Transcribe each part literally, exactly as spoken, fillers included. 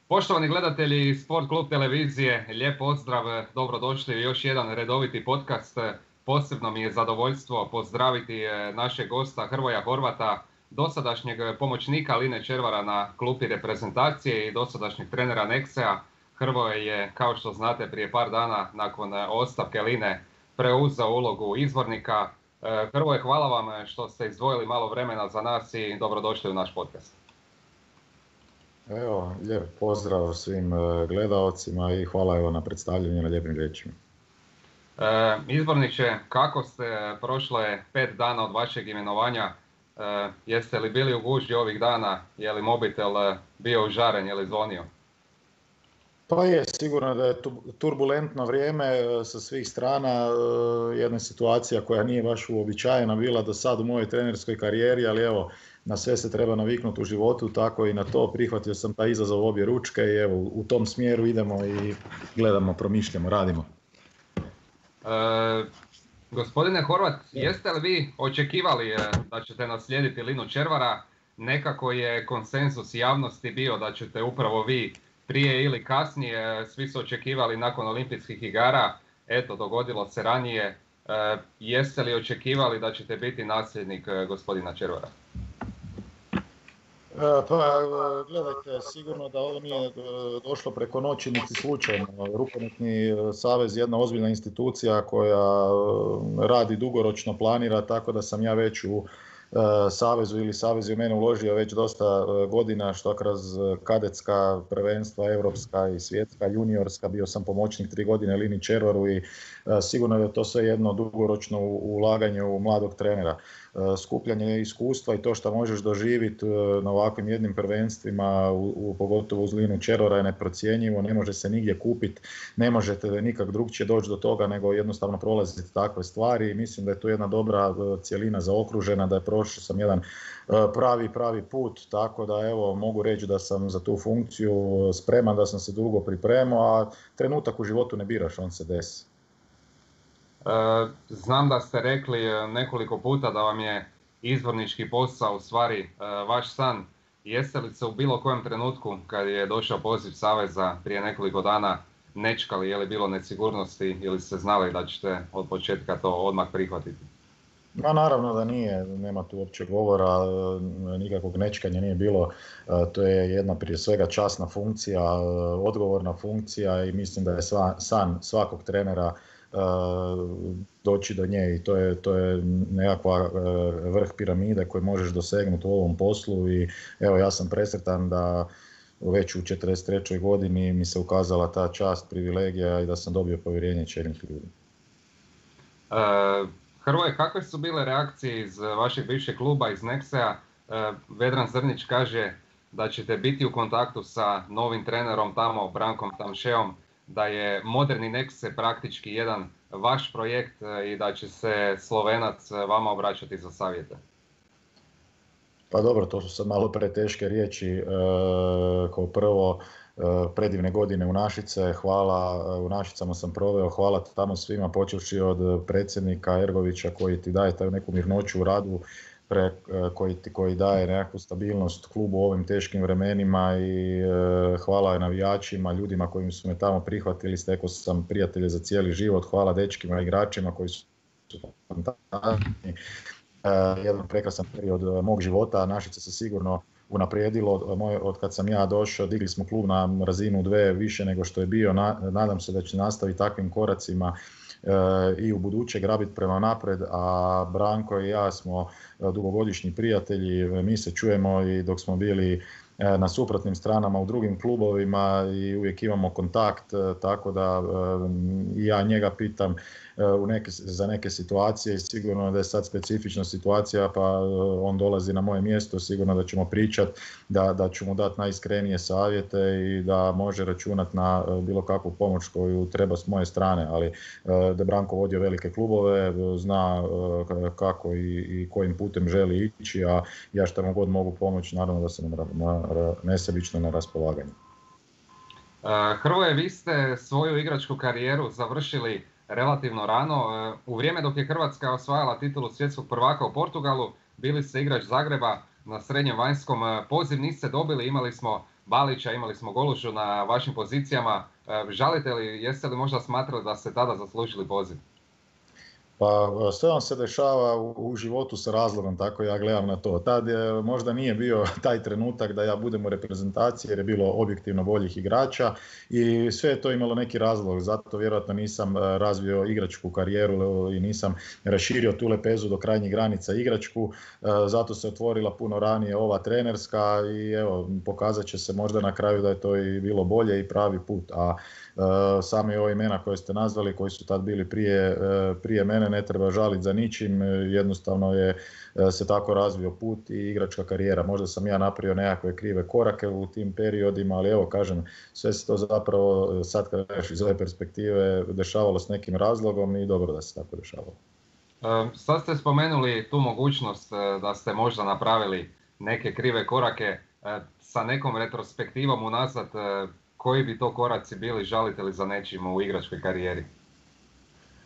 Poštovani gledatelji Sport Klub televizije, lijep pozdrav, dobrodošli u još jedan redoviti podcast. Posebno mi je zadovoljstvo pozdraviti našeg gosta Hrvoja Horvata, dosadašnjeg pomoćnika Line Červara na klupi reprezentacije i dosadašnjeg trenera Nexea. Hrvoje je, kao što znate, prije par dana nakon ostavke Line preuzeo ulogu izvornika. Hrvoje, hvala vam što ste izdvojili malo vremena za nas i dobrodošli u naš podcast. Evo, lijep pozdrav svim gledaocima i hvala evo na predstavljanju na lijepim riječima. E, izborniče, kako ste prošle pet dana od vašeg imenovanja? E, jeste li bili u gužvi ovih dana? Je li mobitel bio užaren, je li zvonio? Pa je, sigurno da je turbulentno vrijeme sa svih strana, jedna situacija koja nije baš uobičajena bila do sad u mojoj trenerskoj karijeri, ali evo, na sve se treba naviknuti u životu, tako i na to. Prihvatio sam taj izazov obje ručke i evo, u tom smjeru idemo i gledamo, promišljamo, radimo. E, gospodine Horvat, jeste li vi očekivali da ćete naslijediti Linu Červara? Nekako je konsenzus javnosti bio da ćete upravo vi prije ili kasnije, svi su očekivali nakon olimpijskih igara, eto, dogodilo se ranije. E, jeste li očekivali da ćete biti nasljednik gospodina Červara? Pa gledajte, sigurno da ovo nije došlo preko noći niti slučajno. Rukometni savez je jedna ozbiljna institucija koja radi dugoročno, planira, tako da sam ja već u savezu ili savez je u mene uložio već dosta godina, što kroz kadetska prvenstva, europska i svjetska, juniorska, bio sam pomoćnik tri godine Lini Červaru i sigurno je to sve jedno dugoročno ulaganje u mladog trenera. Skupljanje iskustva i to što možeš doživjeti na ovakvim jednim prvenstvima, u, u, pogotovo uz Linu Červara, je neprocjenjivo, ne može se nigdje kupiti, ne možete nikak drugčije doći do toga nego jednostavno prolaziti takve stvari. Mislim da je to jedna dobra cjelina zaokružena, da je prošao sam jedan pravi, pravi put, tako da evo mogu reći da sam za tu funkciju spreman, da sam se dugo pripremao, a trenutak u životu ne biraš, on se desi. Znam da ste rekli nekoliko puta da vam je izbornički posao u stvari vaš san. Jeste li se u bilo kojem trenutku kad je došao poziv saveza prije nekoliko dana nečkali, je li bilo nesigurnosti ili ste znali da ćete od početka to odmah prihvatiti? Ma naravno da nije, nema tu uopće govora, nikakvog nečkanja nije bilo. To je jedna prije svega časna funkcija, odgovorna funkcija i mislim da je sva, san svakog trenera doći do nje i to je, to je nekakva vrh piramide koju možeš dosegnuti u ovom poslu i evo ja sam presretan da već u četrdeset trećoj godini mi se ukazala ta čast, privilegija i da sam dobio povjerenje čelnih ljudi. Uh, Hrvoje, kakve su bile reakcije iz vašeg bivšeg kluba, iz Nexea? Uh, Vedran Zrnić kaže da ćete biti u kontaktu sa novim trenerom tamo, Brankom Tamšeom, da je moderni Nexe praktički jedan vaš projekt i da će se Slovenac vama obraćati za savjete. Pa dobro, to su sad malo preteške riječi. E, kao prvo, e, predivne godine u Našice, hvala, u Našicama sam proveo, hvala tamo svima, počevši od predsjednika Ergovića koji ti daje taj neku mirnoću u radu, Pre, koji, koji daje nekakvu stabilnost klubu u ovim teškim vremenima i e, hvala je navijačima, ljudima koji su me tamo prihvatili, stekao sam prijatelje za cijeli život, hvala dečkima, igračima koji su fantastični. E, jedan prekrasan period mog života, Našice se sigurno unaprijedilo, od, od kad sam ja došao, digli smo klub na razinu dve više nego što je bio, na, nadam se da će nastaviti takvim koracima i u buduće grabiti prema napred, a Branko i ja smo dugogodišnji prijatelji, mi se čujemo i dok smo bili na suprotnim stranama u drugim klubovima i uvijek imamo kontakt, tako da i ja njega pitam u neke, za neke situacije i sigurno da je sad specifična situacija pa on dolazi na moje mjesto, sigurno da ćemo pričati, da, da ću mu dati najiskrenije savjete i da može računati na bilo kakvu pomoć koju treba s moje strane, ali da Branko vodio velike klubove, zna kako i, i kojim putem želi ići, a ja što mu god mogu pomoći, naravno da sam na, na, nesebično na raspolaganju. Hrvoje, vi ste svoju igračku karijeru završili relativno rano. U vrijeme dok je Hrvatska osvajala titulu svjetskog prvaka u Portugalu, bili ste igrač Zagreba na srednjem vanjskom. Poziv niste dobili, imali smo Balića, imali smo Golužu na vašim pozicijama. Žalite li, jeste li možda smatrali da ste tada zaslužili poziv? Pa sve vam se dešava u, u životu sa razlogom, tako ja gledam na to. Tad je, možda nije bio taj trenutak da ja budem u reprezentaciji jer je bilo objektivno boljih igrača i sve je to imalo neki razlog. Zato vjerojatno nisam razvio igračku karijeru i nisam raširio tu lepezu do krajnjih granica igračku. Zato se otvorila puno ranije ova trenerska i evo, pokazat će se možda na kraju da je to i bilo bolje i pravi put. A sami ove imena koje ste nazvali, koji su tad bili prije, prije mene, ne treba žaliti za ničim, jednostavno je se tako razvio put i igračka karijera. Možda sam ja napravio nekakve krive korake u tim periodima, ali evo kažem, sve se to zapravo sad kad gledaš iz ove perspektive dešavalo s nekim razlogom i dobro da se tako dešavalo. Sad ste spomenuli tu mogućnost da ste možda napravili neke krive korake sa nekom retrospektivom unazad. Koji bi to koraci bili, žalite li za nečim u igračkoj karijeri?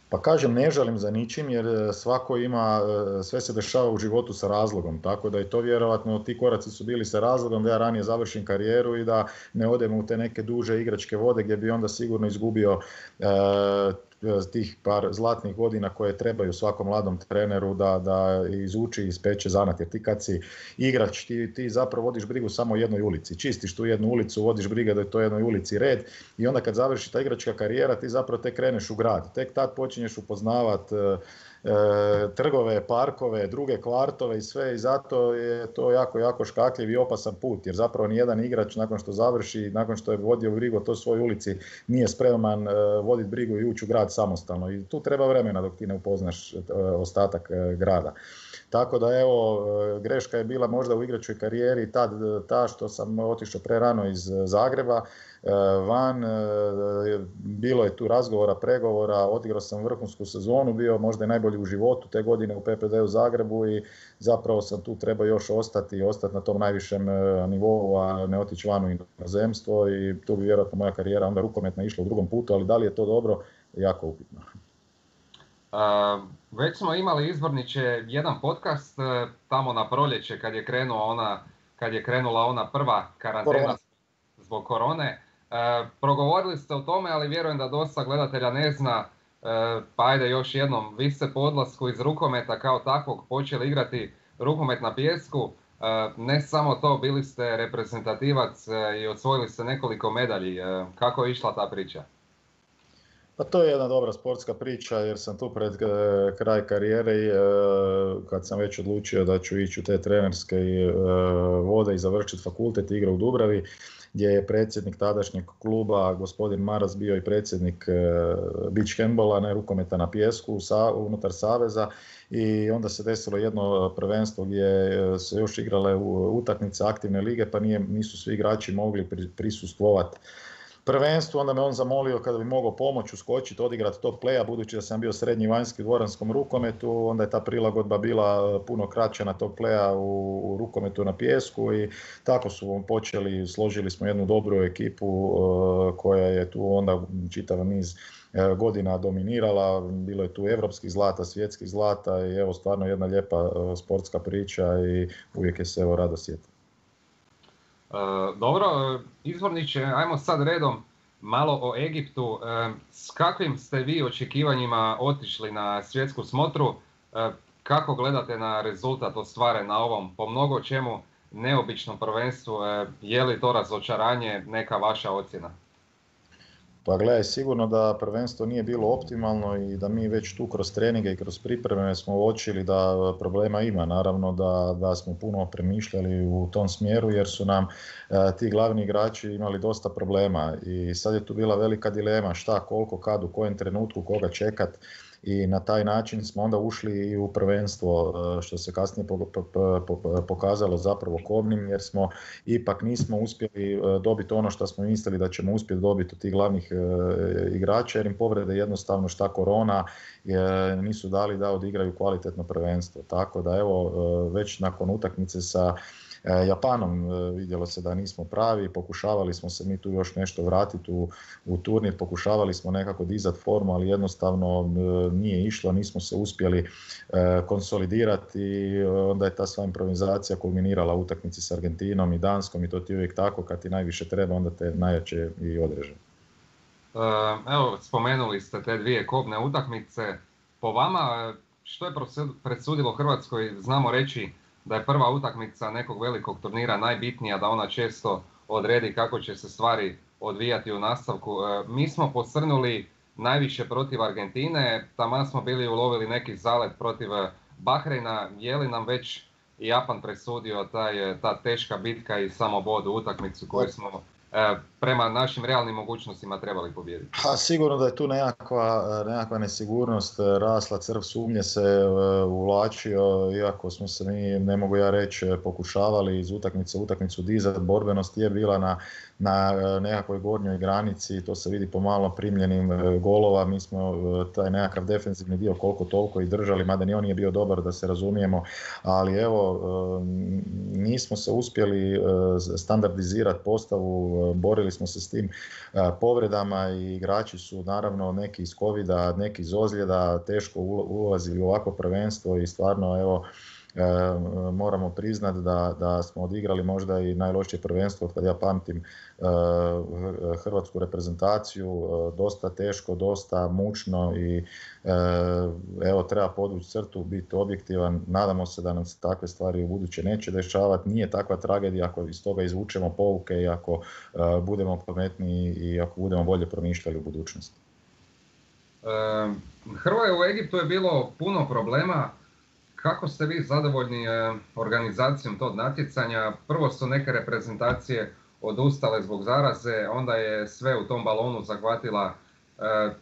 Pa kažem, ne žalim za ničim jer svako ima, sve se dešava u životu sa razlogom, tako da i to vjerojatno ti koraci su bili sa razlogom da ja ranije završim karijeru i da ne odem u te neke duže igračke vode gdje bi onda sigurno izgubio e, tih par zlatnih godina koje trebaju svakom mladom treneru da, da izuči i ispeče zanat. Jer ti kad si igrač, ti, ti zapravo vodiš brigu samo o jednoj ulici. Čistiš tu jednu ulicu, vodiš briga da je to jednoj ulici red i onda kad završi ta igračka karijera ti zapravo tek kreneš u grad. Tek tad počinješ upoznavat e, trgove, parkove, druge kvartove i sve i zato je to jako, jako škakljiv i opasan put jer zapravo nijedan igrač nakon što završi, nakon što je vodio brigu o toj svojoj ulici nije spreman voditi brigu i ući u grad samostalno i tu treba vremena dok ti ne upoznaš ostatak grada. Tako da evo, greška je bila možda u igračkoj karijeri tad ta što sam otišao prerano iz Zagreba van, bilo je tu razgovora, pregovora, odigrao sam vrhunsku sezonu, bio možda i najbolji u životu te godine u P P D u Zagrebu i zapravo sam tu trebao još ostati i ostati na tom najvišem nivou, a ne otići van u inozemstvo i tu bi vjerojatno moja karijera onda rukometna išla u drugom putu, ali da li je to dobro, jako upitno. Uh, već smo imali izborniče jedan podcast uh, tamo na proljeće kad je krenula ona, kad je krenula ona prva karantena Korona. zbog korone. Uh, progovorili ste o tome, ali vjerujem da dosta gledatelja ne zna, uh, pa ajde još jednom, vi ste po odlasku iz rukometa kao takvog počeli igrati rukomet na pijesku. Uh, ne samo to, bili ste reprezentativac uh, i osvojili ste nekoliko medalji. Uh, kako je išla ta priča? Pa to je jedna dobra sportska priča jer sam tu pred kraj karijere i kad sam već odlučio da ću ići u te trenerske vode i završiti fakultet i igrao u Dubravi gdje je predsjednik tadašnjeg kluba gospodin Maras bio i predsjednik beach handballa, ne rukometa na pijesku unutar saveza i onda se desilo jedno prvenstvo gdje se još igrale utakmice aktivne lige pa nije, nisu svi igrači mogli prisustvovati prvenstvu, onda me on zamolio kada bi mogao pomoći uskočiti, odigrati top playa, budući da sam bio srednji vanjski u dvoranskom rukometu, onda je ta prilagodba bila puno kraća na top playa u, u rukometu na pijesku i tako su počeli, složili smo jednu dobru ekipu uh, koja je tu onda čitav niz uh, godina dominirala, bilo je tu evropskih zlata, svjetskih zlata i evo stvarno jedna lijepa uh, sportska priča i uvijek je se evo rado sjetiti. Uh, dobro, izvorniče, ajmo sad redom malo o Egiptu. Uh, s kakvim ste vi očekivanjima otišli na svjetsku smotru? Uh, kako gledate na rezultat ostvaren na ovom po mnogo čemu neobičnom prvenstvu? Uh, je li to razočaranje, neka vaša ocjena? Pa gledaj, sigurno da prvenstvo nije bilo optimalno i da mi već tu kroz treninge i kroz pripreme smo uočili da problema ima. Naravno da, da smo puno premišljali u tom smjeru jer su nam e, ti glavni igrači imali dosta problema i sad je tu bila velika dilema šta, koliko, kad, u kojem trenutku, koga čekat. I na taj način smo onda ušli i u prvenstvo što se kasnije pokazalo zapravo kobnim jer smo ipak nismo uspjeli dobiti ono što smo mislili da ćemo uspjeti dobiti od tih glavnih igrača jer im povrede jednostavno šta korona nisu dali da odigraju kvalitetno prvenstvo. Tako da evo već nakon utakmice sa Japanom vidjelo se da nismo pravi, pokušavali smo se mi tu još nešto vratiti u, u turnir, pokušavali smo nekako dizati formu, ali jednostavno nije išlo, nismo se uspjeli konsolidirati, onda je ta sva improvizacija kulminirala u utakmici s Argentinom i Danskom i to ti uvijek tako, kad ti najviše treba, onda te najjače i odreže. Evo, spomenuli ste te dvije kobne utakmice. Po vama, što je presudilo Hrvatskoj? Znamo reći da je prva utakmica nekog velikog turnira najbitnija, da ona često odredi kako će se stvari odvijati u nastavku. Mi smo posrnuli najviše protiv Argentine, taman smo bili ulovili neki zalet protiv Bahreina. Je li nam već Japan presudio taj, ta teška bitka i samo bod u utakmicu koju smo prema našim realnim mogućnostima trebali pobijediti? Ha, sigurno da je tu nekakva, nekakva nesigurnost rasla, crv sumnje se uvlačio, iako smo se mi, ne mogu ja reći, pokušavali iz utakmice u utakmicu dizati. Borbenost je bila na, na nekakvoj gornjoj granici, to se vidi po malo primljenim golova. Mi smo taj nekakav defensivni dio koliko toliko i držali, mada ni on nije bio dobar, da se razumijemo, ali evo, nismo se uspjeli standardizirati postavu, borili smo se s tim povredama i igrači su naravno neki iz covida, neki iz ozljeda, teško ulazili u ovako prvenstvo i stvarno evo, E, moramo priznati da, da smo odigrali možda i najlošije prvenstvo od kad ja pamtim e, hrvatsku reprezentaciju, e, dosta teško, dosta mučno i e, evo, treba podvući crtu, biti objektivan. Nadamo se da nam se takve stvari u buduće neće dešavati. Nije takva tragedija ako iz toga izvučemo pouke i ako e, budemo pametniji i ako budemo bolje promišljali u budućnosti. E, Hrvoje, u Egiptu je bilo puno problema. Kako ste vi zadovoljni organizacijom tog natjecanja? Prvo su neke reprezentacije odustale zbog zaraze, onda je sve u tom balonu zahvatila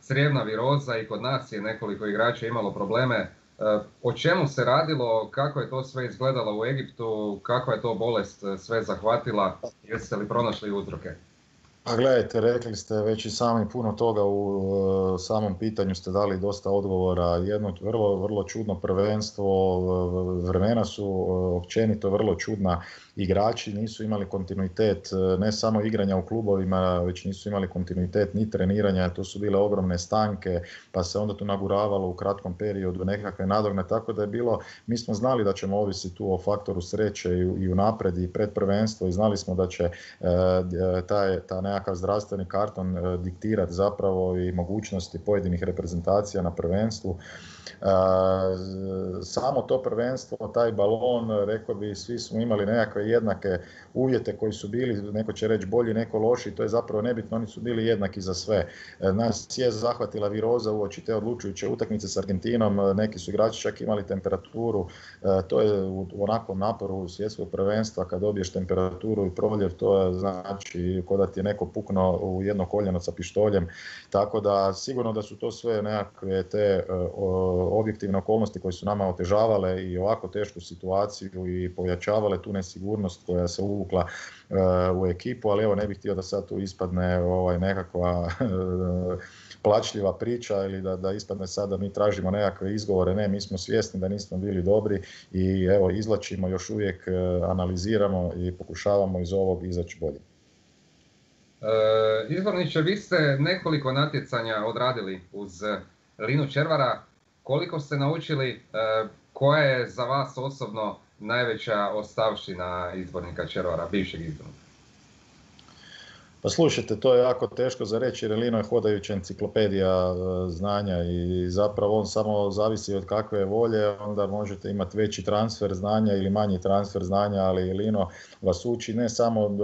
crijevna viroza i kod nas je nekoliko igrača imalo probleme. O čemu se radilo, kako je to sve izgledalo u Egiptu, kakva je to bolest sve zahvatila, jeste li pronašli uzroke? Pa gledajte, rekli ste već i sami puno toga u uh, samom pitanju, ste dali dosta odgovora. Jedno vrlo, vrlo čudno prvenstvo, vremena su uh, općenito vrlo čudna. Igrači nisu imali kontinuitet, ne samo igranja u klubovima, već nisu imali kontinuitet ni treniranja, to su bile ogromne stanke, pa se onda tu naguravalo u kratkom periodu nekakve nadogne, tako da je bilo, mi smo znali da ćemo ovisiti tu o faktoru sreće i, i u napred i pred prvenstvo i znali smo da će uh, taj, ta nekakav zdravstveni karton uh, diktirati zapravo i mogućnosti pojedinih reprezentacija na prvenstvu. Uh, samo to prvenstvo, taj balon, rekao bi, svi smo imali nekakve jednake uvjete koji su bili, neko će reći bolji, neko loši, to je zapravo nebitno, oni su bili jednaki za sve. Uh, nas je zahvatila viroza uoči te odlučujuće utakmice s Argentinom, neki su igrači čak imali temperaturu, uh, to je u onakvom naporu svjetskog prvenstva, kad dobiješ temperaturu i proljev, to je znači kao da ti je neko puknuo u jedno koljeno sa pištoljem, tako da sigurno da su to sve nekakve te uh, objektivne okolnosti koje su nama otežavale i ovako tešku situaciju i pojačavale tu nesigurnost koja se uvukla uh, u ekipu, ali evo, ne bih htio da sad tu ispadne ovaj, nekakva plačljiva priča ili da, da ispadne sad da mi tražimo nekakve izgovore. Ne, mi smo svjesni da nismo bili dobri i evo, izvlačimo, još uvijek uh, analiziramo i pokušavamo iz ovog izaći bolje. E, Izborniče, vi ste nekoliko natjecanja odradili uz Linu Červara. Koliko ste naučili, e, koja je za vas osobno najveća ostavština izbornika Červara, bivšeg izbornika? Pa slušajte, to je jako teško za reći jer Lino je hodajuća enciklopedija znanja i zapravo on samo zavisi od kakve volje, onda možete imati veći transfer znanja ili manji transfer znanja, ali Lino vas uči ne samo uh,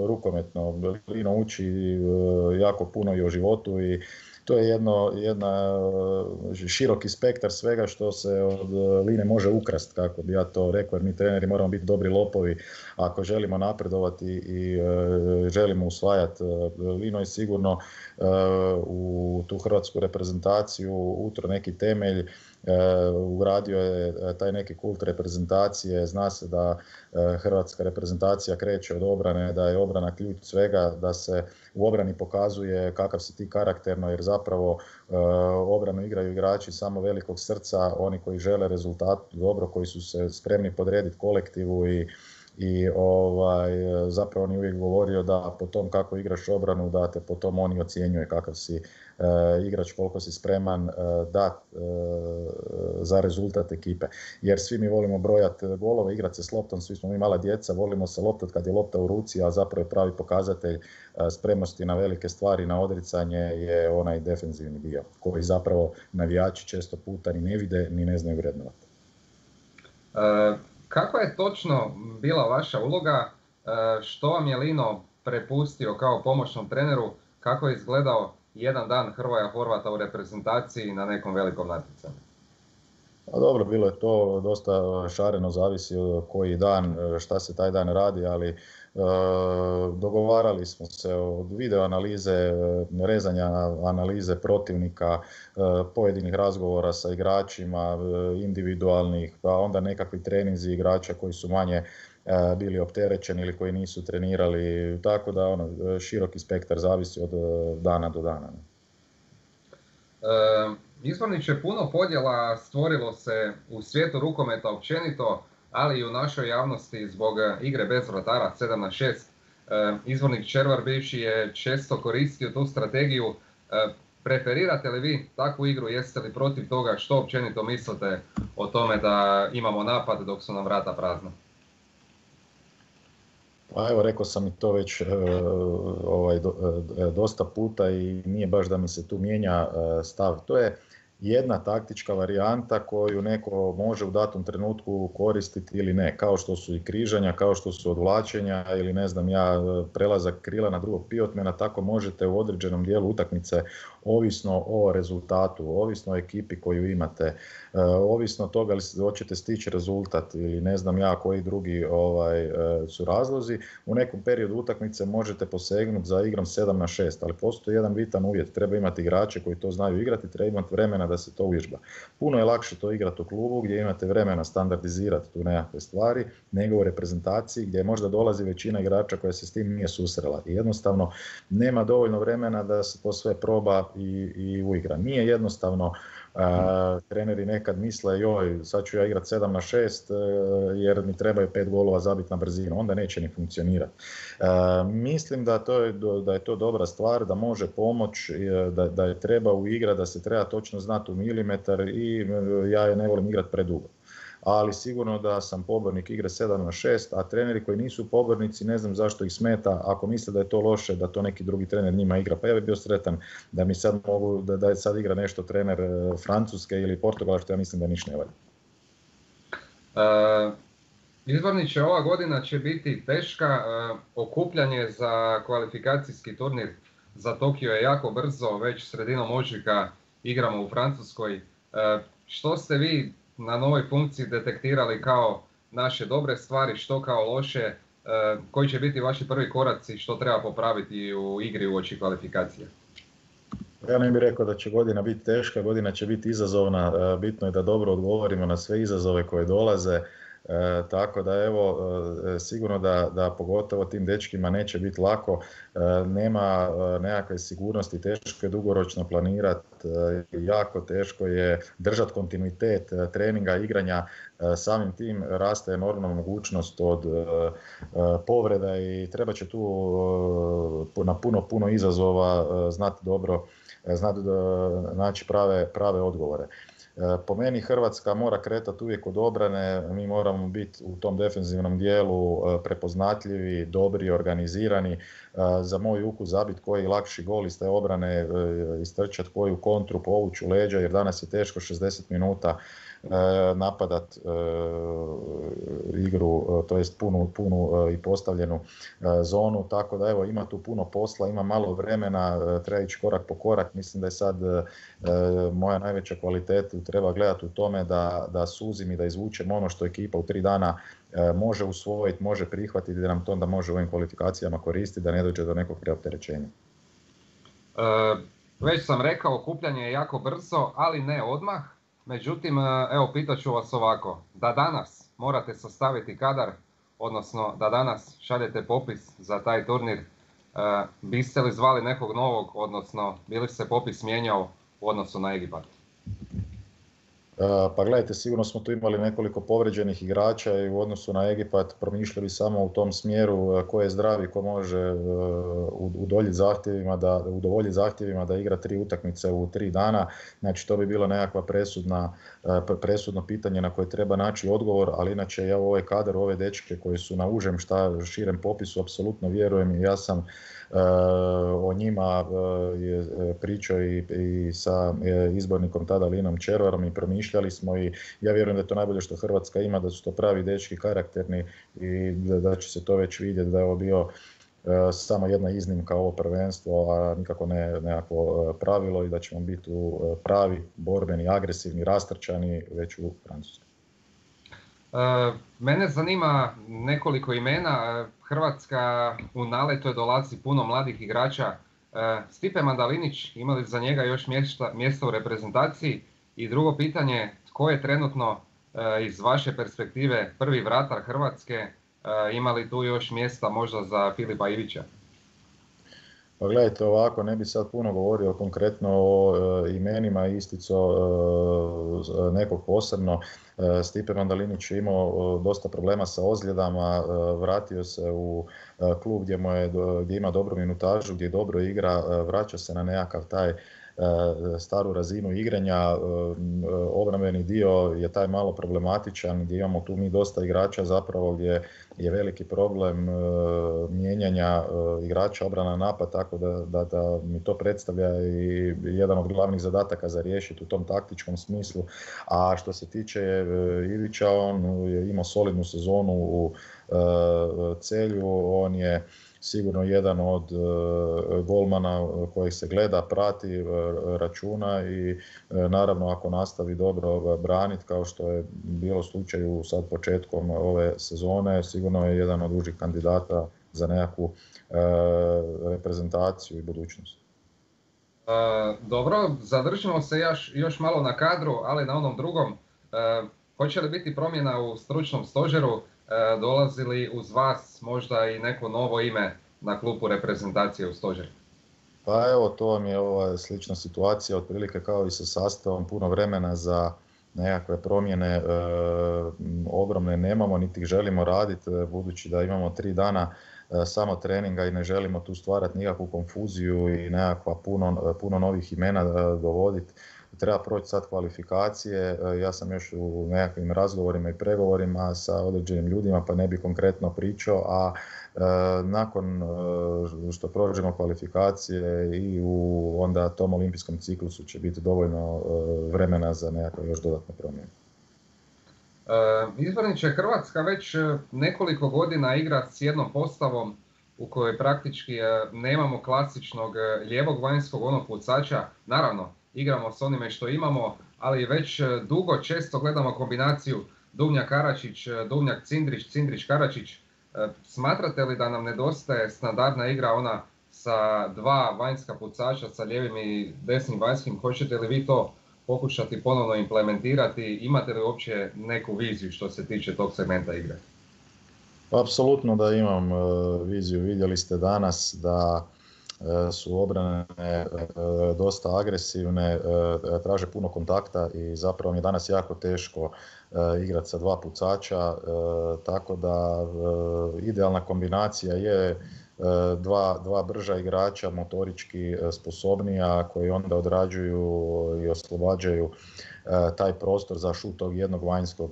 rukometno, Lino uči uh, jako puno i o životu i to je jedno, jedna široki spektar svega što se od Line može ukrasti, kako bi ja to rekao, jer mi treneri moramo biti dobri lopovi ako želimo napredovati i e, želimo usvajati. Lino je sigurno e, u tu hrvatsku reprezentaciju utro neki temelj, e, ugradio je taj neki kult reprezentacije, zna se da e, hrvatska reprezentacija kreće od obrane, da je obrana ključ svega, da se u obrani pokazuje kakav si ti karakterno, jer zapravo e, obranu igraju igrači samo velikog srca, oni koji žele rezultat dobro, koji su se spremni podrediti kolektivu i i ovaj, zapravo on je uvijek govorio da po tom kako igraš obranu, da te po tom oni ocjenjuje kakav si uh, igrač, koliko si spreman uh, dat uh, za rezultat ekipe. Jer svi mi volimo brojati golove, igrati se s loptom, svi smo mi mala djeca, volimo se loptati kad je lopta u ruci, a zapravo je pravi pokazatelj uh, spremnosti na velike stvari, na odricanje je onaj defenzivni dio, koji zapravo navijači često puta ni ne vide, ni ne znaju vrednovati. Uh... Kako je točno bila vaša uloga, što vam je Lino prepustio kao pomoćnom treneru, kako je izgledao jedan dan Hrvoja Horvata u reprezentaciji na nekom velikom natjecanju? Pa dobro, bilo je to dosta šareno, zavisi koji dan, šta se taj dan radi, ali e, dogovarali smo se od video analize, rezanja analize protivnika, e, pojedinih razgovora sa igračima, individualnih, pa onda nekakvi treninzi igrača koji su manje e, bili opterećeni ili koji nisu trenirali, tako da ono, široki spektar zavisi od dana do dana. E... Izvorniče, puno podjela stvorilo se u svijetu rukometa općenito, ali i u našoj javnosti zbog igre bez vratara sedam na šest. Izvornik Červar bivši je često koristio tu strategiju. Preferirate li vi takvu igru, jeste li protiv toga, što općenito mislite o tome da imamo napad dok su nam vrata prazna? Pa evo, rekao sam i to već e, ovaj, do, e, dosta puta i nije baš da mi se tu mijenja e, stav. To je jedna taktička varijanta koju neko može u datom trenutku koristiti ili ne, kao što su i križanja, kao što su odvlačenja ili ne znam ja, prelazak krila na drugog pivotmena, tako možete u određenom dijelu utakmice, ovisno o rezultatu, ovisno o ekipi koju imate, ovisno od toga li hoćete stići rezultat ili ne znam ja koji drugi ovaj, su razlozi, u nekom periodu utakmice možete posegnuti za igrom sedam na šest, ali postoji jedan bitan uvjet, treba imati igrače koji to znaju igrati, treba imati vremena da se to uvježba. Puno je lakše to igrati u klubu gdje imate vremena standardizirati tu nekakve stvari, nego u reprezentaciji gdje možda dolazi većina igrača koja se s tim nije susrela i jednostavno nema dovoljno vremena da se to sve proba i, i uigra. Nije jednostavno. Uh, treneri nekad misle joj, sad ću ja igrati sedam na šest uh, jer mi trebaju pet golova zabiti na brzinu, onda neće ni funkcionirati. Uh, mislim da, to je, da je to dobra stvar, da može pomoć, da, da je treba uigrati, da se treba točno znati u milimetar i uh, ja je ne volim igrati predugo. Ali sigurno da sam pobornik igre sedam na šest, a treneri koji nisu pobornici ne znam zašto ih smeta, ako misle da je to loše, da to neki drugi trener njima igra, pa ja bih bio sretan da mi sad mogu, da, da je sad igra nešto trener Francuske ili Portugala, što ja mislim da ništa ne valja. Uh, Izvorniče, ova godina će biti teška, uh, okupljanje za kvalifikacijski turnir za Tokio je jako brzo, već sredinom ožujka igramo u Francuskoj. Uh, što ste vi na novoj funkciji detektirali kao naše dobre stvari, što kao loše, koji će biti vaši prvi koraci, što treba popraviti u igri uoči kvalifikacije? Ja ne bih rekao da će godina biti teška, godina će biti izazovna, bitno je da dobro odgovorimo na sve izazove koje dolaze. E, tako da evo, e, sigurno da, da pogotovo tim dečkima neće biti lako, e, nema e, nekakve sigurnosti, teško je dugoročno planirati, e, jako teško je držati kontinuitet e, treninga, igranja, e, samim tim raste enormna mogućnost od e, e, povreda i treba će tu e, na puno, puno izazova e, znati dobro, e, znati e, naći prave, prave odgovore. Po meni Hrvatska mora kretati uvijek od obrane, mi moramo biti u tom defenzivnom dijelu prepoznatljivi, dobri, organizirani. Za moj ukus zabiti koji lakši gol iz te obrane, istrčati koju kontru, povući u leđa, jer danas je teško šezdeset minuta napadat igru, to jest punu, punu i postavljenu zonu, tako da evo ima tu puno posla, ima malo vremena, treba ići korak po korak. Mislim da je sad moja najveća kvaliteta, treba gledati u tome da, da suzim i da izvučem ono što ekipa u tri dana može usvojiti, može prihvatiti, da nam to onda može u ovim kvalifikacijama koristiti, da ne dođe do nekog preopterećenja. E, već sam rekao, okupljanje je jako brzo, ali ne odmah. Međutim, evo, pitaću vas ovako, da danas morate sastaviti kadar, odnosno da danas šaljete popis za taj turnir, e, biste li zvali nekog novog, odnosno bi li se popis mijenjao u odnosu na Egipat? Pa gledajte, sigurno smo tu imali nekoliko povrijeđenih igrača i u odnosu na Egipat promišljali samo u tom smjeru ko je zdravi, ko može udovoljiti zahtjevima da, udovoljiti zahtjevima da igra tri utakmice u tri dana. Znači to bi bilo nekakva presudna, presudno pitanje na koje treba naći odgovor, ali inače ja u ovaj kadar, u ove dečke koji su na užem šta širem popisu apsolutno vjerujem i ja sam o njima je pričao i, i sa izbornikom tada Linom Červarom i promišljali smo i ja vjerujem da je to najbolje što Hrvatska ima, da su to pravi dečki, karakterni i da, da će se to već vidjeti da je ovo bio samo jedna iznimka ovo prvenstvo, a nikako ne nekako pravilo i da ćemo biti u pravi, borbeni, agresivni, rastrčani već u Francuskoj. Mene zanima nekoliko imena. Hrvatska u naletu je dolazi puno mladih igrača. Stipe Mandalinić, ima li za njega još mjesta, mjesta u reprezentaciji? I drugo pitanje, tko je trenutno iz vaše perspektive prvi vratar Hrvatske? Ima li tu još mjesta možda za Filipa Ivića? Pa gledajte ovako, ne bi sad puno govorio konkretno o e, imenima isticao e, nekog posebno. E, Stipe Mandalinić je imao e, dosta problema sa ozljedama, e, vratio se u e, klub gdje, mu je, gdje ima dobru minutažu, gdje dobro igra, e, vraća se na nekakav taj staru razinu igranja. Obrambeni dio je taj malo problematičan gdje imamo tu mi dosta igrača zapravo gdje je veliki problem mijenjanja igrača obrana napad, tako da, da, da mi to predstavlja i jedan od glavnih zadataka za riješiti u tom taktičkom smislu. A što se tiče Ivića, on je imao solidnu sezonu u Celju, on je sigurno jedan od uh, golmana kojeg se gleda, prati, uh, računa i uh, naravno ako nastavi dobro braniti kao što je bilo slučaju sad početkom ove sezone, sigurno je jedan od užih kandidata za nekakvu uh, reprezentaciju i budućnost. Uh, dobro, zadržimo se još, još malo na kadru, ali na onom drugom. Uh, hoće li biti promjena u stručnom stožeru? Dolazi li uz vas možda i neko novo ime na klupu reprezentacije u stožer? Pa evo, to vam je ova slična situacija, otprilike kao i sa sastavom, puno vremena za nekakve promjene e, ogromne nemamo, niti ih želimo raditi, budući da imamo tri dana e, samo treninga i ne želimo tu stvarati nikakvu konfuziju i nekakva puno, puno novih imena e, dovoditi. Treba proći sad kvalifikacije, ja sam još u nekakvim razgovorima i pregovorima sa određenim ljudima pa ne bi konkretno pričao, a e, nakon e, što prođemo kvalifikacije i u onda tom olimpijskom ciklusu će biti dovoljno e, vremena za nekakve još dodatne promjene. E, izborniče, Hrvatska već nekoliko godina igra s jednom postavom u kojoj praktički e, nemamo klasičnog lijevog vanjskog onog pucača, naravno, igramo s onime što imamo, ali već dugo često gledamo kombinaciju Duvnjak-Karačić, Duvnjak-Cindrić, Cindrić-Karačić. Smatrate li da nam nedostaje standardna igra ona sa dva vanjska pucača, sa lijevim i desnim vanjskim? Hoćete li vi to pokušati ponovno implementirati? Imate li uopće neku viziju što se tiče tog segmenta igre? Apsolutno da imam viziju. Vidjeli ste danas da su obrane dosta agresivne, traže puno kontakta i zapravo mi je danas jako teško igrati sa dva pucača, tako da idealna kombinacija je dva, dva brža igrača, motorički sposobnija, koji onda odrađuju i oslobađaju taj prostor za šut tog jednog vanjskog.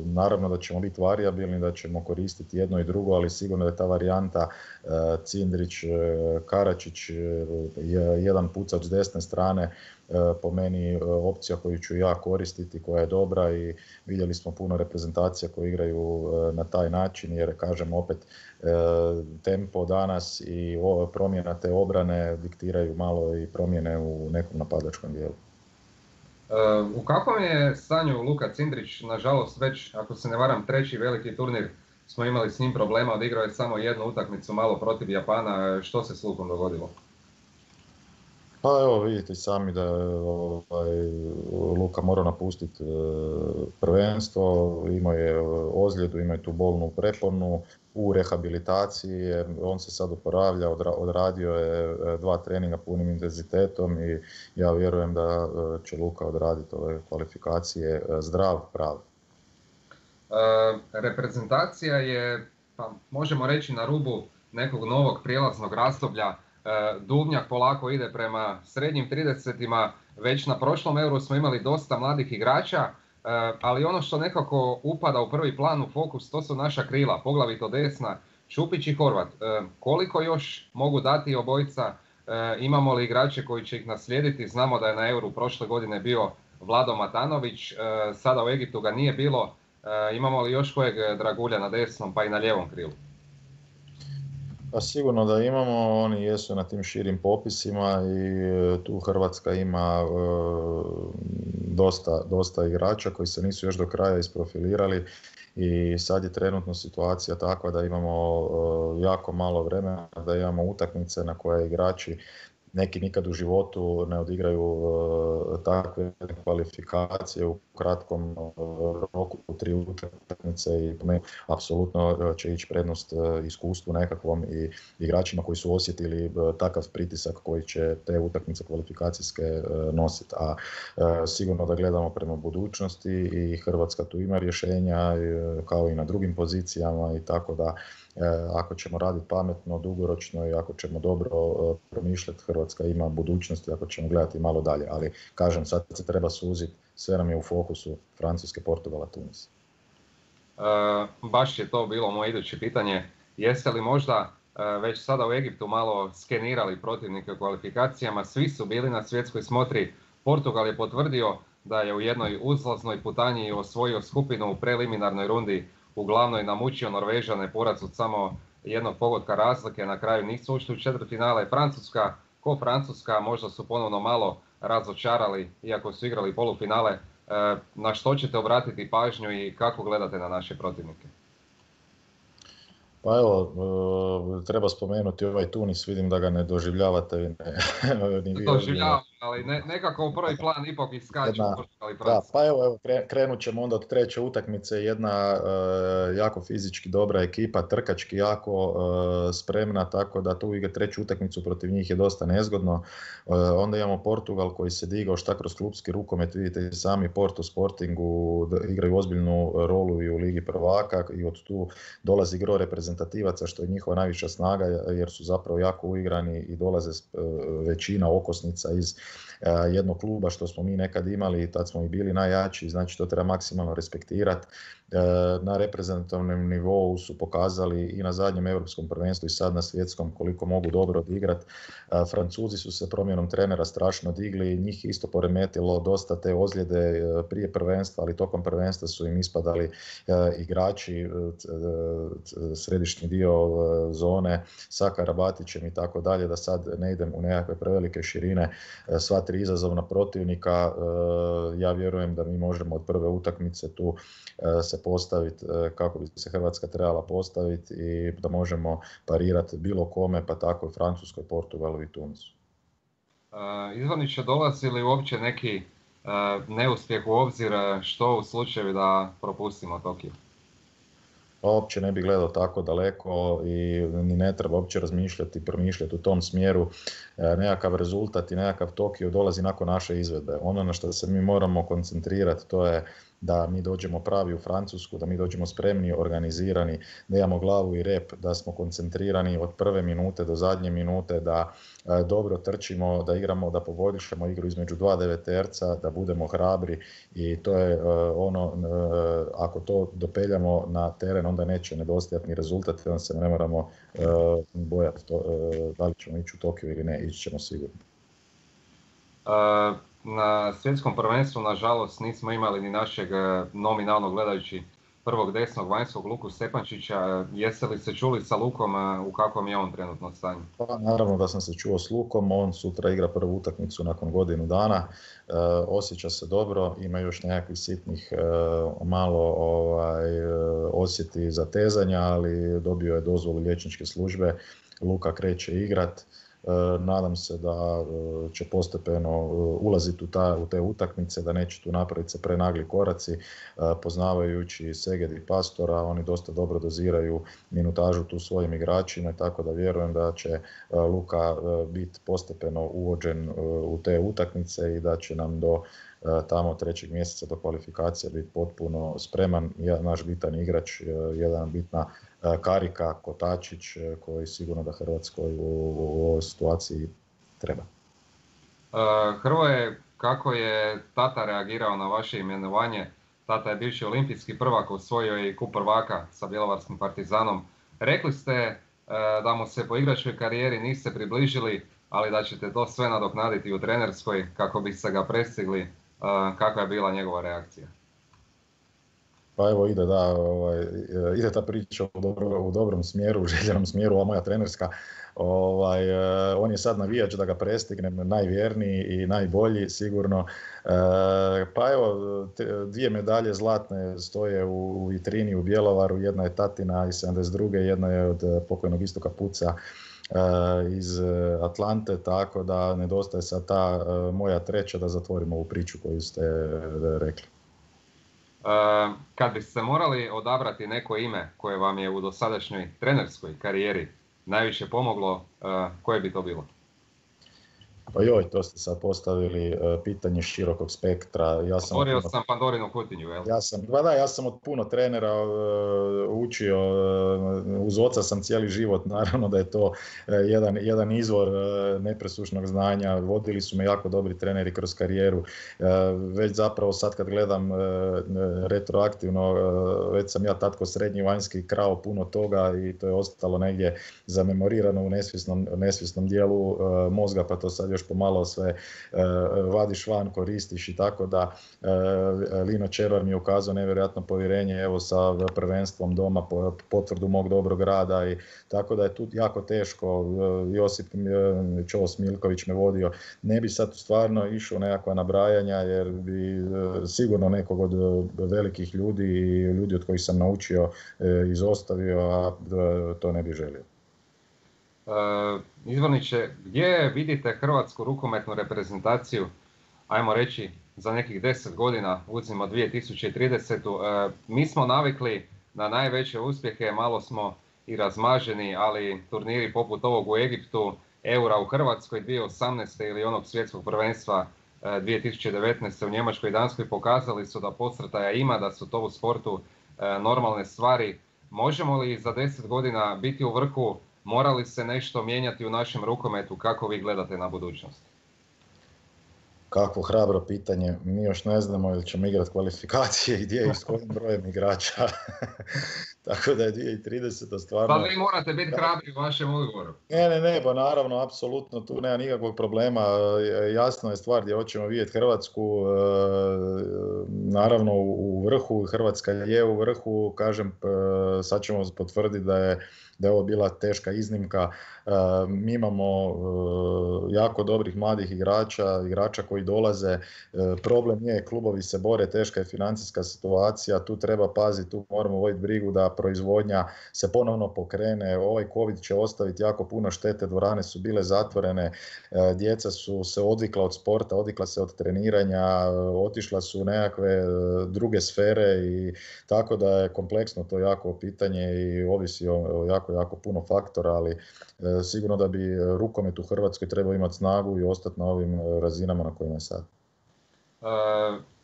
Naravno da ćemo biti varijabilni, da ćemo koristiti jedno i drugo, ali sigurno je ta varijanta Cindrić, Karačić, jedan pucač s desne strane po meni opcija koju ću ja koristiti, koja je dobra i vidjeli smo puno reprezentacija koje igraju na taj način, jer kažem opet tempo danas i promjena te obrane diktiraju malo i promjene u nekom napadačkom dijelu. U kakvom je stanju Luka Cindrić? Nažalost već, ako se ne varam, treći veliki turnir smo imali s njim problema, odigrao je samo jednu utakmicu malo protiv Japana. Što se s Lukom dogodilo? Pa evo vidite sami da je ovaj, Luka morao napustiti prvenstvo, imao je ozljedu, imao je tu bolnu preponu, u rehabilitaciji, on se sad oporavlja, odradio je dva treninga punim intenzitetom i ja vjerujem da će Luka odraditi ove kvalifikacije zdrav, prav. E, reprezentacija je, pa možemo reći, na rubu nekog novog prijelaznog razdoblja. E, Duvnjak polako ide prema srednjim tridesetima, već na prošlom Euru smo imali dosta mladih igrača, e, ali ono što nekako upada u prvi plan, u fokus, to su naša krila, poglavito desna, Šupić i Horvat. E, koliko još mogu dati obojica, e, imamo li igrače koji će ih naslijediti? Znamo da je na Euru prošle godine bio Vlado Matanović, e, sada u Egiptu ga nije bilo. E, imamo li još kojeg dragulja na desnom pa i na lijevom krilu? Pa sigurno da imamo, oni jesu na tim širim popisima i tu Hrvatska ima e, dosta, dosta igrača koji se nisu još do kraja isprofilirali i sad je trenutno situacija takva da imamo e, jako malo vremena, da imamo utakmice na koje igrači neki nikad u životu ne odigraju uh, takve kvalifikacije u kratkom uh, roku, u tri utakmice i po meni apsolutno će ići prednost uh, iskustvu nekakvom i igračima koji su osjetili uh, takav pritisak koji će te utakmice kvalifikacijske uh, nositi. A uh, sigurno da gledamo prema budućnosti i Hrvatska tu ima rješenja uh, kao i na drugim pozicijama i tako da uh, ako ćemo raditi pametno, dugoročno i ako ćemo dobro uh, promišljati, Hrvatska ima budućnosti ako ćemo gledati malo dalje, ali kažem, sad se treba suziti, sve nam je u fokusu Francuske, Portugala, Tunis. E, baš je to bilo moje iduće pitanje. Jeste li možda e, već sada u Egiptu malo skenirali protivnike u kvalifikacijama? Svi su bili na svjetskoj smotri. Portugal je potvrdio da je u jednoj uzlaznoj putanji osvojio skupinu u preliminarnoj rundi, uglavnom namučio Norvežane, poraz od samo jednog pogotka razlike, na kraju nisu ušli u četvrtfinale. Francuska, ko Francuska, možda su ponovno malo razočarali, iako su igrali polufinale. Na što ćete obratiti pažnju i kako gledate na naše protivnike? Pa evo, treba spomenuti ovaj Tunis, vidim da ga ne doživljavate. Ne, ni vi doživljavam, ali ne, nekako u prvi plan ipak iskaču. Da, pa evo, evo krenut ćemo onda od treće utakmice, jedna uh, jako fizički dobra ekipa, trkački jako uh, spremna, tako da tu igra treću utakmicu protiv njih je dosta nezgodno. Uh, onda imamo Portugal koji se digao šta kroz klupski rukomet, vidite i sami Porto Sportingu igraju ozbiljnu rolu i u Ligi prvaka i od tu dolazi gro reprezentativaca što je njihova najviša snaga jer su zapravo jako uigrani i dolaze većina okosnica iz jednog kluba što smo mi nekad imali i tad smo i bili najjači, znači to treba maksimalno respektirati. Na reprezentativnom nivou su pokazali i na zadnjem europskom prvenstvu i sad na svjetskom koliko mogu dobro odigrati. Francuzi su se promjenom trenera strašno digli, njih isto poremetilo dosta te ozljede prije prvenstva, ali tokom prvenstva su im ispadali igrači, središnji dio zone sa Karabatićem i tako dalje, da sad ne idem u nekakve prevelike širine. Sva tri izazovna protivnika, ja vjerujem da mi možemo od prve utakmice tu se postaviti kako bi se Hrvatska trebala postaviti i da možemo parirati bilo kome, pa tako i Francuskoj, Portugalu i Tunisu. Izvaniće, dolazi li uopće neki neuspjeh u obzir što u slučaju da propustimo Tokio? Uopće ne bi gledao tako daleko i ni ne treba uopće razmišljati i promišljati u tom smjeru. Nekakav rezultat i nekakav Tokio dolazi nakon naše izvedbe. Ono na što se mi moramo koncentrirati to je da mi dođemo pravi u Francusku, da mi dođemo spremni, organizirani, da imamo glavu i rep, da smo koncentrirani od prve minute do zadnje minute, da e, dobro trčimo, da igramo, da poboljšamo igru između dva deveterca, da budemo hrabri i to je e, ono, e, ako to dopeljamo na teren, onda neće nedostajati ni rezultat, onda se ne moramo e, bojati to, e, da li ćemo ići u Tokio ili ne, ići ćemo sigurno. Uh... Na svjetskom prvenstvu, nažalost, nismo imali ni našeg nominalno gledajući prvog desnog vanjskog Luku Stepančića. Jeste li se čuli sa Lukom, u kakvom je on trenutno stanju? Pa, naravno da sam se čuo s Lukom, on sutra igra prvu utakmicu nakon godinu dana, e, osjeća se dobro, ima još nekakvih sitnih e, malo ovaj, osjeti zatezanja, ali dobio je dozvolu liječničke službe, Luka kreće igrat. Nadam se da će postepeno ulaziti u, ta, u te utakmice, da neće tu napraviti se prenagli koraci. Poznavajući Seged i Pastora, oni dosta dobro doziraju minutažu tu svojim igračima, tako da vjerujem da će Luka biti postepeno uvođen u te utakmice i da će nam do tamo trećeg mjeseca do kvalifikacije biti potpuno spreman. Naš bitan igrač, jedan bitna karika, kotačić, koji sigurno da Hrvatskoj u, u ovoj situaciji treba. Hrvoje, kako je tata reagirao na vaše imenovanje? Tata je bivši olimpijski prvak, osvojio je i kup prvaka sa bjelovarskim Partizanom. Rekli ste da mu se po igračkoj karijeri niste približili, ali da ćete to sve nadoknaditi u trenerskoj kako bi se ga prestigli. Kakva je bila njegova reakcija? Pa evo ide, da, ovaj, ide ta priča u, dobro, u dobrom smjeru, u željenom smjeru, ova moja trenerska. Ovaj, on je sad navijač da ga prestignem, najvjerniji i najbolji sigurno. Pa evo, te, dvije medalje zlatne stoje u, u vitrini u Bjelovaru, jedna je tatina iz sedamdeset druge, jedna je od pokojnog Istoka Puca iz Atlante, tako da nedostaje sad ta moja treća da zatvorimo ovu priču koju ste rekli. Kad biste morali odabrati neko ime koje vam je u dosadašnjoj trenerskoj karijeri najviše pomoglo, koje bi to bilo? Pa joj, to ste sad postavili uh, pitanje širokog spektra. Ja sam Otvorio puno, sam Pandorinu kutiju, jel? Ja sam, ba da, ja sam od puno trenera uh, učio, uh, uz oca sam cijeli život, naravno da je to uh, jedan, jedan izvor uh, nepresušnog znanja. Vodili su me jako dobri treneri kroz karijeru. Uh, već zapravo sad kad gledam uh, retroaktivno, uh, već sam ja tatko srednji vanjski krao puno toga i to je ostalo negdje zamemorirano u nesvjesnom, nesvjesnom dijelu uh, mozga, pa to sad još pomalo sve uh, vadiš van, koristiš i tako da uh, Lino Červar mi je ukazao nevjerojatno povjerenje, evo sa prvenstvom doma, potvrdu mog dobrog rada i tako da je tu jako teško. Uh, Josip uh, Čos Milković me vodio. Ne bi sad stvarno išao nekakva nabrajanja jer bi uh, sigurno nekog od uh, velikih ljudi i ljudi od kojih sam naučio uh, izostavio, a uh, to ne bi želio. Uh, Izvorniče, gdje vidite hrvatsku rukometnu reprezentaciju, ajmo reći, za nekih deset godina, uzmimo dvije tisuće tridesetu. Uh, mi smo navikli na najveće uspjehe, malo smo i razmaženi, ali turniri poput ovog u Egiptu, Eura u Hrvatskoj dvije tisuće osamnaeste ili onog svjetskog prvenstva uh, dvije tisuće devetnaeste u Njemačkoj i Danskoj pokazali su da posrtaja ima, da su to u sportu uh, normalne stvari. Možemo li za deset godina biti u vrhu? Mora li se nešto mijenjati u našem rukometu? Kako vi gledate na budućnost? Kakvo hrabro pitanje. Mi još ne znamo ili ćemo igrati kvalifikacije i gdje i s kojim brojem igrača. Tako da je dvije tisuće trideseta stvarno... Pa vi morate biti hrabri u vašem odgovoru. Ne, ne, ne, pa naravno, apsolutno, tu nema nikakvog problema. Jasno je stvar gdje hoćemo vidjeti Hrvatsku. Naravno u vrhu, Hrvatska je u vrhu, kažem, sad ćemo potvrditi da je da je ovo bila teška iznimka. Mi imamo jako dobrih mladih igrača, igrača koji dolaze. Problem je, klubovi se bore, teška je financijska situacija, tu treba paziti, tu moramo voditi brigu da proizvodnja se ponovno pokrene. Ovaj COVID će ostaviti jako puno štete, dvorane su bile zatvorene, djeca su se odvikla od sporta, odvikla se od treniranja, otišla su u nekakve druge sfere i tako da je kompleksno to jako pitanje i ovisi o jako, jako puno faktora, ali sigurno da bi rukomet u Hrvatskoj trebao imati snagu i ostati na ovim razinama na kojima je sad. Uh,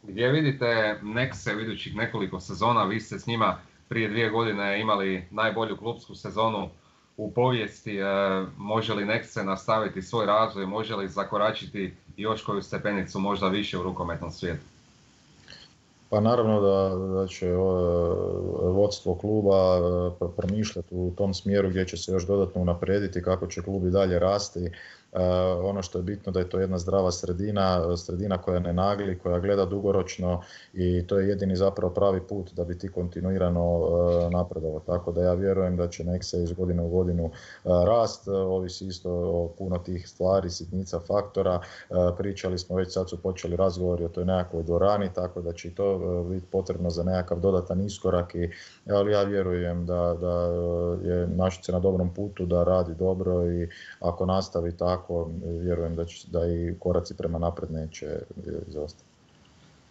gdje vidite Nexe u idućih nekoliko sezona? Vi ste s njima prije dvije godine imali najbolju klupsku sezonu u povijesti. Uh, može li Nexe nastaviti svoj razvoj? Može li zakoračiti još koju stepenicu možda više u rukometnom svijetu? Pa naravno da, da će vodstvo kluba promišljati u tom smjeru gdje će se još dodatno unaprijediti, kako će klub i dalje rasti. ono što je bitno da je to jedna zdrava sredina, sredina koja ne nagli, koja gleda dugoročno i to je jedini zapravo pravi put da bi ti kontinuirano napredovao. Tako da ja vjerujem da će Nexe iz godine u godinu rast, ovisi isto o puno tih stvari, sitnica, faktora. Pričali smo već, sad su počeli razgovori o toj nekakvoj dvorani, tako da će i to biti potrebno za nekakav dodatan iskorak, i, ali ja vjerujem da, da je Našice na dobrom putu, da radi dobro i ako nastavi tako, vjerujem da, će, da i koraci prema napred neće izostati.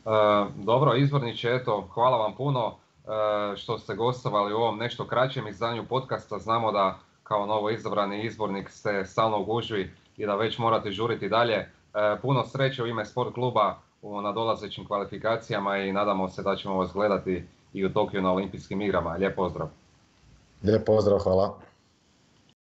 E, dobro, izvorniče, eto, hvala vam puno e, što ste gostovali u ovom nešto kraćem izdanju podcasta. Znamo da kao novo izabrani izbornik ste stalno u gužvi i da već morate žuriti dalje. E, puno sreće u ime Sport kluba u nadolazećim kvalifikacijama i nadamo se da ćemo vas gledati i u Tokiju na olimpijskim igrama. Lijep pozdrav. Lijep pozdrav, hvala.